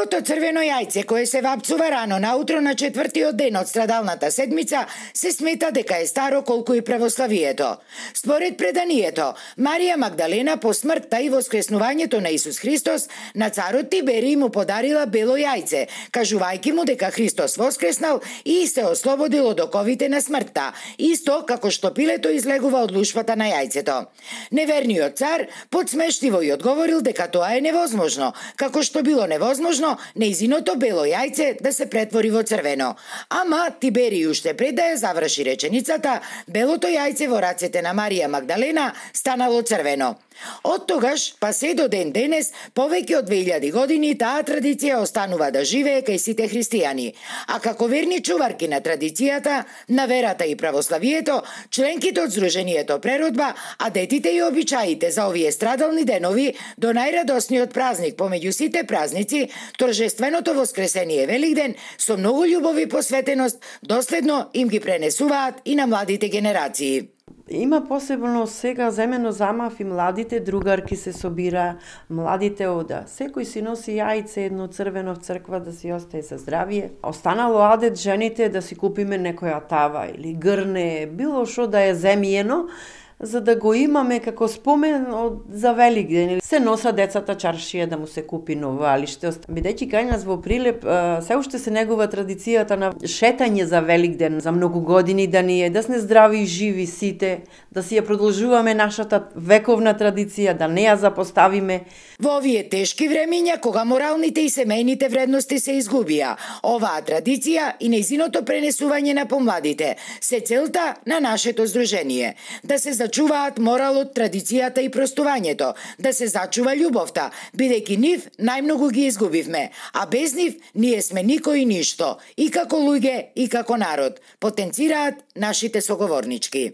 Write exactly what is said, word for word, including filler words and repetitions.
Белото црвено јајце кое се вапцува рано наутро на четвртиот ден од страдалната седмица се смета дека е старо колку и православието. Според преданието, Марија Магдалена по смртта и воскреснувањето на Исус Христос на царот Тиберий му подарила бело јајце, кажувајќи му дека Христос воскреснал и се ослободил од оковите на смртта, исто како што пилето излегува од лушпата на јајцето. Неверниот цар подсмештиво и одговорил дека тоа е невозможно, како што било невозможно нејзиното бело јајце да се претвори во црвено. Ама Тиберий уште пред да ја заврши реченицата, белото јајце во рацете на Марија Магдалена станало црвено. Од тогаш, па се до ден денес, повеќе од две илјади години таа традиција останува да живее кај сите христијани. А како верни чуварки на традицијата, на верата и православието, членките од Здруженијето Преродба, а детите и обичаите за овие страдални денови до најрадосниот празник помеѓу сите празници, торжественото воскресение Великден, со многу љубов и посветеност, доследно им ги пренесуваат и на младите генерации. Има посебно сега земено замав и младите другарки се собира, младите ода. Секој си носи јајце едно црвено в црква да си остае за здравие. Останало адет жените да си купиме некоја тава или грне, било што да е земјено, за да го имаме како спомен од за Великден. Се носа децата чаршија да му се купи ново, али што бидејќи кај нас во Прилеп се уште се негува традицијата на шетање за Великден, за многу години да ни е, да сме здрави и живи сите, да си ја продолжуваме нашата вековна традиција, да не ја запоставиме. Во овие тешки времиња, кога моралните и семејните вредности се изгубија, оваа традиција и нејзиното пренесување на помладите се целта на нашето здружение. Да се зачуваат моралот, традицијата и простувањето, да се зачува љубовта, бидејќи нив најмногу ги изгубивме, а без нив ние сме никој и ништо, и како луѓе, и како народ, потенцираат нашите соговорнички.